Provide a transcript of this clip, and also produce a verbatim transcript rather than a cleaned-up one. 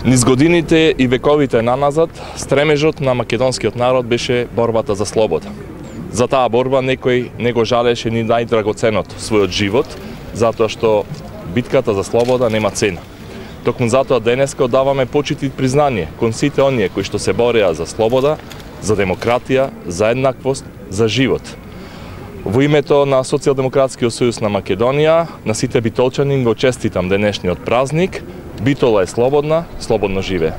Низ годините и вековите наназад, стремежот на македонскиот народ беше борбата за слобода. За таа борба некој не го жалеше ни најдрагоценото, својот живот, затоа што битката за слобода нема цена. Токму затоа денеска одаваме почит и признание кон сите оние кои што се бореа за слобода, за демократија, за еднаквост, за живот. Во името на Социјалдемократскиот сојуз на Македонија, на сите битолчани го честитам денешниот празник. Битола е слободна, слободно живее.